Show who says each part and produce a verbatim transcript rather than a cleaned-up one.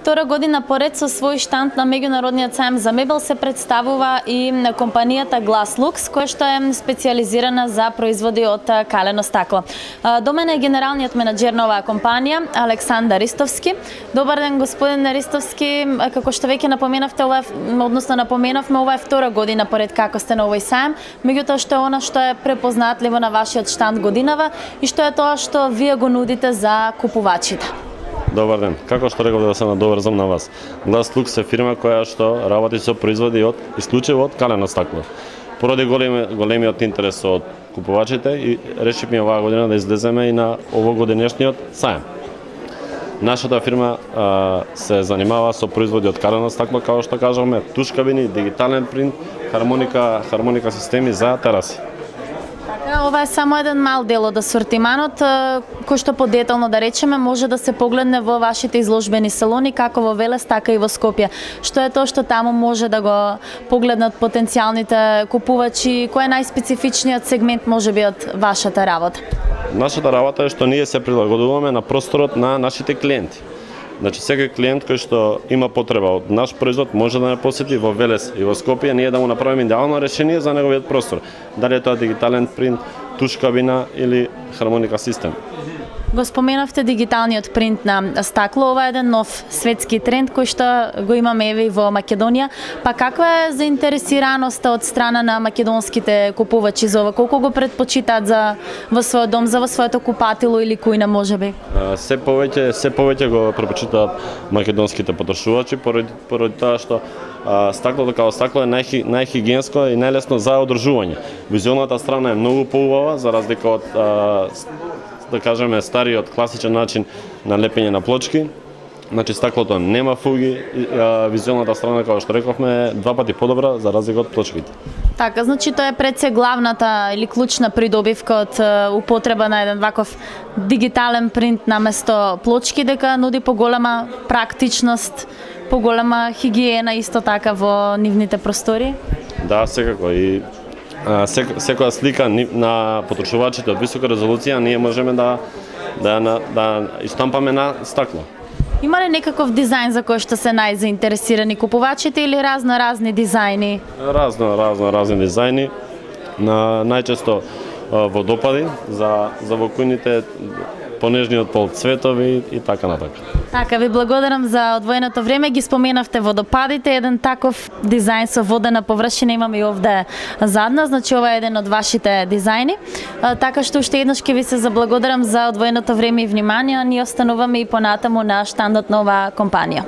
Speaker 1: втора година поред со свој штанд на меѓународниот сајм за мебел се представува и компанијата Glass Lux, која што е специјализирана за производи од калено стакло. До мене е генералниот менаџер на оваа компанија, Александар Ристовски. Добар ден, господин Ристовски. Како што веќе напоменавте, ова односно напоменавме, ова е втора година поред како сте на овој сајм, меѓутоа што е она што е препознатливо на вашиот штанд годинава и што е тоа што вие го нудите за купувачите.
Speaker 2: Добар ден. Како што реков да се надоврзам на вас. Glass Lux е фирма која што работи со производи од исклучиво од калено стакло. Поради големи, големиот интерес од купувачите и решивме оваа година да излеземе и на овогодинешниот сајм. Нашата фирма а, се занимава со производи од калено стакло, како што кажавме, туш кабини, дигитален принт, хармоника, хармоника системи за тераси.
Speaker 1: Ова е само еден мал дел од асортиманот, кој што подетално да речеме може да се погледне во вашите изложбени салони, како во Велес, така и во Скопје. Што е тоа што таму може да го погледнат потенцијалните купувачи, кој е најспецифичниот сегмент можеби од вашата работа?
Speaker 2: Нашата работа е што ние се прилагодуваме на просторот на нашите клиенти. Значи, секој клиент кој што има потреба од наш производ може да не посети во Велес и во Скопје, ние да му направиме идеално решение за неговиот простор. Дали е тоа дигитален принт, туш кабина или хармоника систем.
Speaker 1: Го споменавте дигиталниот принт на стакло, ова е еден нов светски тренд кој што го имаме еве и во Македонија. Па каква е заинтересираноста од страна на македонските купувачи за ова? Колку го предпочитаат за во својот дом, за во своето купатило или кујна можеби?
Speaker 2: Се повеќе, се повеќе го предпочитаат македонските потрошувачи поради, поради тоа што а, стаклото како стакло е најхи, најхигиенско и најлесно за одржување. Визуелната страна е многу поубава за разлика од а, да кажеме стариот класичен начин на лепење на плочки. Значи стаклото нема фуги, визуелната страна како што рековме е два пати подобра за разлика од плочките.
Speaker 1: Така, значи тоа е пред се главната или клучна придобивка од употреба на еден ваков дигитален принт наместо плочки, дека нуди поголема практичност, поголема хигиена исто така во нивните простори.
Speaker 2: Да, секако и Сек, секоја слика на потрошувачите од висока резолуција ние можеме да да да, да истампаме на стакло.
Speaker 1: Има ли некаков дизајн за кој што се најзаинтересирани купувачите или разно разни дизајни?
Speaker 2: Разно разно разни дизајни. На најчесто водопади за за во кујните понежниот пол цветови и така натака.
Speaker 1: Така, ви благодарам за одвоеното време. Ги споменавте водопадите, еден таков дизајн со водена површина имаме и овде зад нас, значи ова е еден од вашите дизајни. Така што уште еднаш ќе ви се заблагодарам за одвоеното време и внимание, ние остануваме и понатаму на штандот на оваа компанија.